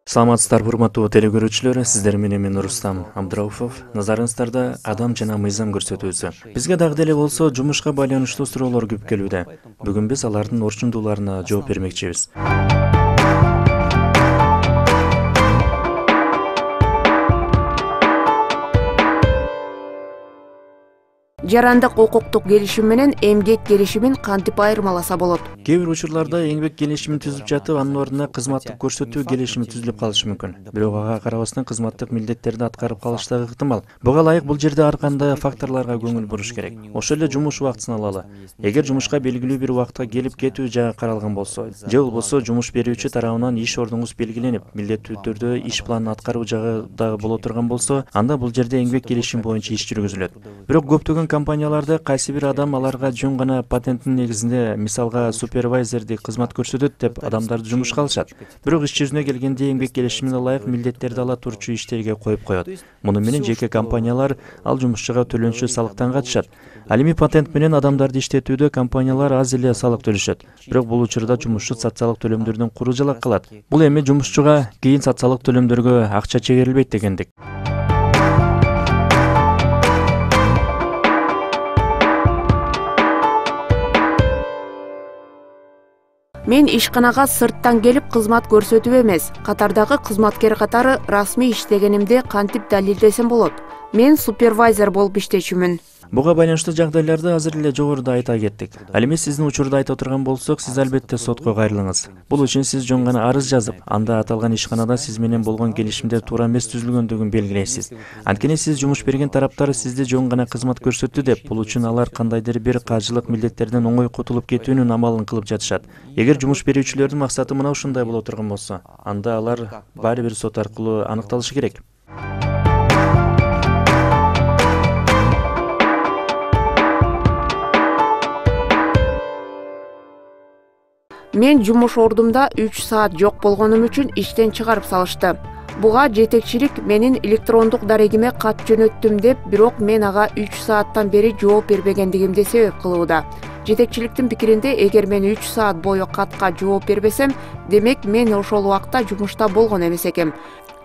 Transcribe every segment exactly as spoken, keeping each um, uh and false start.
Саламатсыздарбы, урматтуу телекөрүүчүлөр, сиздер менен мен Рустам Абдрауфов. Назарыңыздарда адам жана мыйзам көрсөтүүсү. Бизге дагы деле болсо жумушка байланыштуу суроолор көп келүүдө. Бүгүн биз алардын орчундууларына жооп бермекчибиз. Жарандык укуктук келишим менен эмгек келишимин кантип айырмаласа болот? Кээ бир учурларда эмгек келишимин түзүп жатып, анын ордуна кызматтык көрсөтүү келишими түзүлүп калышы мүмкүн. Бирок ага карабастан кызматтык милдеттерди аткарып калыш дагы ыктымал. Буга ылайык бул жерде ар кандай факторлорго көңүл буруш керек. Ошол эле жумуш убактысын алалы. Эгер жумушка белгилүү бир убакытка келип кетүү жагы каралган болсо, же болбосо жумуш берүүчү тарабынан иш ордуңуз белгиленип, милдеттүү түрдө иш планын аткаруу жагы дагы боло турган болсо, анда бул жерде эмгек келишим боюнча иш жүргүзүлөт. Бирок көптөгөн компанияларда кайсы бир адам аларга жөн гана патенттин негизинде, мисалга супервайзерди кызмат көрсөтөт деп адамдарды жумушка алышат. Бирок иш жүзүнө келгенде эмгек келишимине ылайык милдеттерди ала турчу иштерге коюп коет. Муну менен жеке компаниялар ал жумушчуга төлөнчү салыктан качышат. Ал эми патент менен адамдарды иштетүүдө компаниялар аз эле салык төлөшөт. Бирок бул учурда жумушчу социалдык төлөмдөрдөн куру жалак калат. Бул эми жумушчуга кийин социалдык төлөмдөргө акча чегерилбейт дегендик. Мен ишканага сырттан келип кызмат көрсөтүү эмес, катардагы кызматкер катары расмий иштегенимди кантип далилдесем болот? Мен супервайзер болуп иштечүмүн. Буга байланыштуу жагдайларды азыр эле жогоруда айта кеттик. Ал эми сиздин учурда айта турган болсок, сиз албетте сотко кайрылыңыз. Бул үчүн сиз жөн гана арыз жазып, анда аталган ишканада сиз менен болгон келишимде туура эмес түзүлгөндүгүн белгилейсиз. Анткени сиз жумуш берген тараптар сизди жөн гана кызмат көрсөттү деп, бул үчүн алар кандайдыр бир каржылык милдеттерден оңой кутулуп кетүүнүн амалын кылып жатышат. Эгер жумуш берүүчүлөрдүн максаты мына ушундай боло турган болсо, анда алар баары бир сот аркылуу аныкталышы керек. Мен жумуш ордумда үч саат жок болгонум үчүн иштен чыгарып салышты. Буга жетекчилик менин электрондук дарегиме кат жөнөттүм деп, бирок мен ага үч сааттан бери жооп бербегендигимди себеп кылууда. Жетекчиликтин пикиринде, эгер мен үч саат бою катка жооп бербесем, демек мен ошол убакта жумушта болгон эмес экем.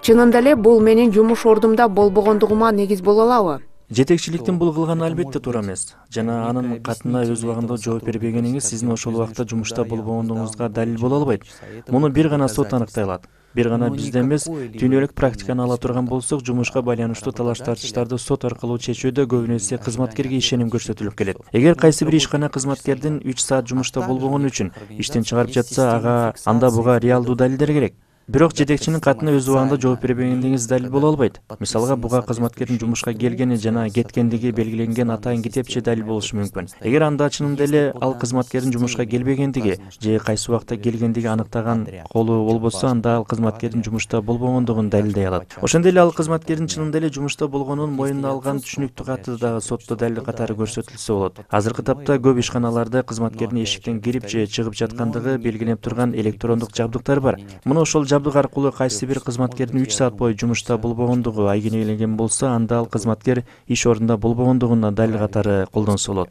Чынында эле бул менин жумуш ордумда болбогондугума негиз боло алабы? Жетекчиликтин бул кылганы албетте туура эмес. Жана анын катына өз убагында жооп бербегениңиз сиздин ошол убакта жумушта болбогондугуңузга далил боло албайт. Муну бир гана сот аныктай алат. Бир гана бизде эмес, дүйнөлүк практиканы ала турган болсок, жумушка байланыштуу талаш-тартыштарды сот аркылуу чечүүдө көбүнө эсе кызматкерге ишеним көрсөтүлүп келет. Эгер кайсы бир ишкана кызматкердин үч саат жумушта болбогону үчүн иштен чыгарып жатса, ага анда буга реалдуу далилдер керек. Бирок жетекчинин катына өз убагында жооп бербегендигиңиз далил боло албайт. Мисалга, буга кызматкердин жумушка келгени жана кеткендиги белгиленген атайын китепче далил болушу мүмкүн. Эгер анда чынында эле ал кызматкердин жумушка келбегендиги же кайсы убакта келгендиги аныктаган колу болбосо, анда ал кызматкердин жумушта болбогондугун далилдей алат. Ошондой эле ал кызматкердин чынында эле жумушта болгонун моюнуна алган түшүнүктүү каты дагы сотто далил катары көрсөтүлсө болот. Азыркы тапта көп ишканаларда кызматкердин эшиктен кирип же чыгып жаткандыгы белгиленип турган электрондук жабдыктар бар. Муну ошол жабдык аркылуу кайсы бир кызматкердин үч саат бою жумушта болбогондугу айгинеленген болсо, анда ал кызматкер иш ордунда болбогондугуна далил катары колдонсо болот.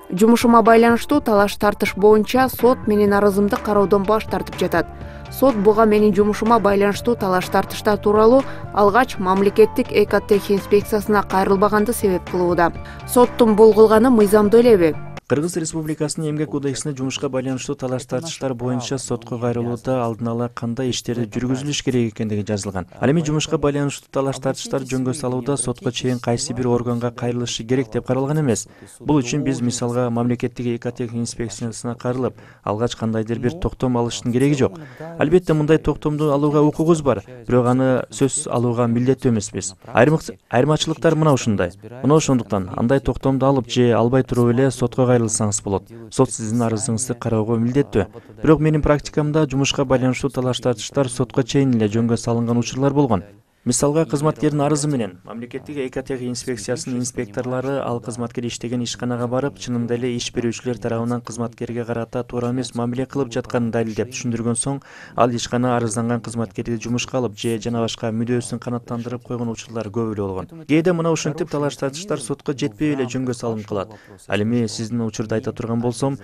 Жумушума байланыштуу талаш-тартыш боюнча сот менин арызымды кароодон баш тартып жатат. Сот буга менин жумушума байланыштуу талаш-тартыштар тууралуу алгач мамлекеттик экотех инспекциясына кайрылбаганды себеп кылууда. Соттун бул кылганы мыйзамдуу элеби? Кыргыз Республикасынын эмгек кодексинде жумушка байланыштуу талаш-тартыштар боюнча сотко кайрылууда алдын ала кандай иштерди жүргүзүлүш керек экендиги жазылган. Ал эми жумушка байланыштуу талаш-тартыштар жөнгө салууда сотко чейин кайсы бир органга кайрылышы керек деп каралган эмес. Бул үчүн биз мисалга мамлекеттик экотех инспекциясына кайрылып, алгач кандайдыр бир токтом алыштын кереги жок. Албетте мындай токтомду алууга укугубуз бар, бирок аны сөзсүз алууга милдеттүү эмеспиз. Айырмачылыктар мына ушундай. Мына ошондуктан андай токтомду алып же албай туруп эле сотко кайрылсаңыз болот. Сот сиздин арызыңызды кароого милдеттүү. Бирок менин практикамда жумушка байланыштуу талаш-тартыштар сотко чейин эле жөнгө салынган учурлар болгон. Мисалга, кызматкердин арызы менен мамлекеттик экотех инспекциясынын инспекторлору ал кызматкер иштеген ишканага барып, чынында эле иш берүүчүлөр тарабынан кызматкерге карата туура эмес мамиле кылып жатканын далилдеп түшүндүргөн соң, ал ишкана арызданган кызматкерди жумушка алып же жана башка мүдөөсүн канааттандырып койгон учурлар көп эле болгон. Кээде мына ушинтип талаш тартыштар сотко жетпей эле жөнгө салынып калат. Ал эми сиздин учурду айта турган болсом,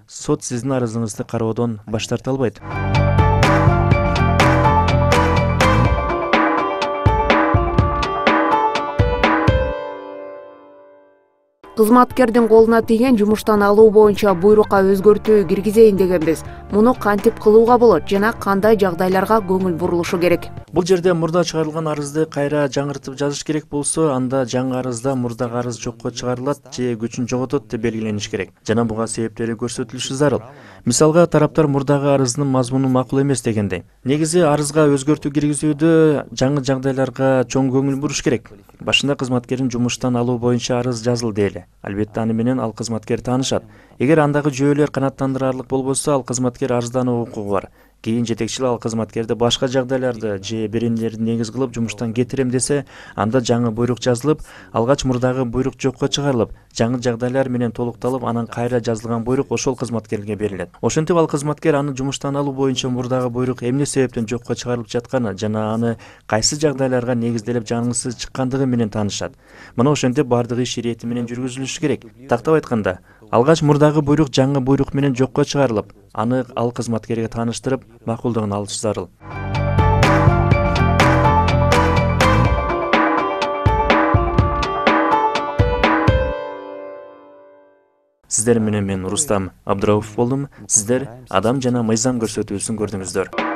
сот сиздин арызыңызды кароодон баш тарта албайт. Кызматкердин колуна тийген жумуштан алуу боюнча буйрукка өзгөртүү киргизейин дегенбиз. Муну кантип кылууга болот жана кандай жагдайларга көңүл бурулушу керек? Бул жерде мурда чыгарылган арызды кайра жаңыртып жазыш керек болсо, анда жаңы арызда мурдагы арыз жокко чыгарылат же күчүн жоготот деп белгилениш керек. Жана буга себептери көрсөтүлүшү зарыл. Мисалга, тараптар мурдагы арыздын мазмуну макул эмес дегенде, негизи арызга өзгөртүү киргизүүдө жаңы жагдайларга чоң көңүл буруш керек. Башында кызматкердин жумуштан алуу боюнча арыз жазылды эле. Албетте аны менен ал кызматкер таанышат. Эгер андагы жүйөлөр канааттандырарлык болбосо, ал кызматкер арыздануу укугу бар. Кийин жетекчилик ал кызматкерди башка жагдайларды же беренелерди негиз кылып жумуштан кетирем десе, анда жаңы буйрук жазылып, алгач мурдагы буйрук жокко чыгарылып, жаңы жагдайлар менен толукталып, анан кайра жазылган буйрук ошол кызматкерге берилет. Ошентип ал кызматкер аны жумуштан алуу боюнча мурдагы буйрук эмне себептен жокко чыгарылып жатканы жана аны кайсы жагдайларга негизделип жаңысы чыккандыгы менен таанышат. Мына ошентип бардык иш ирети менен жүргүзүлүшү керек. Тактап айтканда, алгач мурдагы буйрук жаңы буйрук менен жокко чыгарылып, аны ал кызматкерге тааныштырып, макулдугун алыш зарыл. Сиздер менен мен Рустам Абдырауфов болдум. Сиздер Адам жана мыйзам көрсөтүүсүн көрдүңүздөр.